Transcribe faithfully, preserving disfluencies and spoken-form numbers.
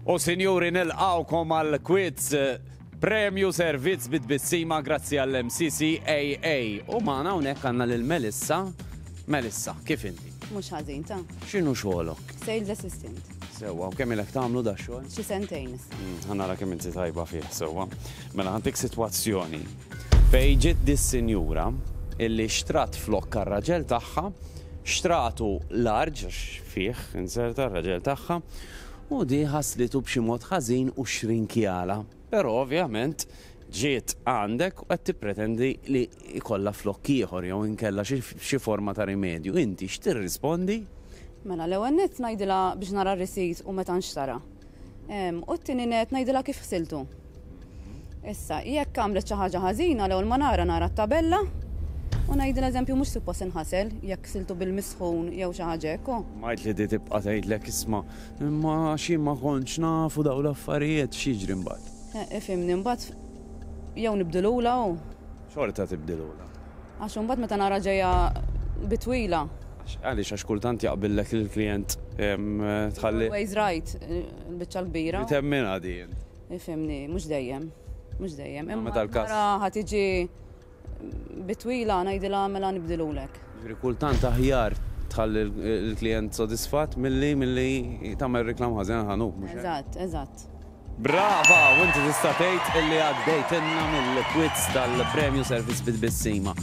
U sinjuri, nilqgħukom għal quiz Premju Servizz bit-Tbissima grazzi għall-M C C A A. U magħna hawnhekk għandna lil Melissa. Melissa, kif inti? Mhux ħażin ta. X'inhu xogħolok? Sales assistant. Sewwa, u kemm ilek tagħmlu da xogħol? Xi sentejn issa. Mm, Ħa nara kemm inti tajba fih, sewwa. Mela ħa ntik sitwazzjoni. Fejn ġiet dis-sinjura illi xtrat flokk ar-raġel tagħha, xtratu large għax fih inserta r-raġel tagħha, u di ħaslitu b'xi mod ħażin u xrinkjala. Però ovvjament ġiet għandek u qed tippretendi li jkollha flokk ieħor jew inkella xi xi forma ta' rimedju. Inti x'tirrispondi? Mela l-ewwel nett ngħidilha biex nara r-receipt u meta nxtara. Em, U t-tieni nett ngħidilha kif ħsiltu. Issa, jekk għamlet xi ħaġa ħażina, l-ewwel ma nara nara t-tabella u ngħidilha, eżempju, mhux suppost inħasel jekk ħsiltu bil-misħun jew xi ħaġa hekk. u. Majt li di tibqa' tgħidlek, "Isma', imma xi ma kontx nafu dawn l-affarijiet," x'jiġri mbagħad? Eh, Ifhimni, mbagħad jew nibdilula u Xorta tibdilula. Għax imbagħad meta nara ġejja bitwila. Għaliex, għax kultant jaqbillek il-klient em, tħalli. Always right, il-biċċa l-kbira. Temminha din. Ifhimni, mhux dejjem. Mhux dejjem. Imma Meta l-kas- nara ħa tiġi bitwila, ngħidilha, "Mela nibdilulek." Ġifieri kultant aħjar tħalli l-klient sodisfatt milli milli tagħmel reklam ħażin ħanut, mhux hekk? Eżatt, eżatt. Brava, u inti tista' tgħid illi għaddejtilna mill-quiz tal-Premju Servizz bit-Tbissima.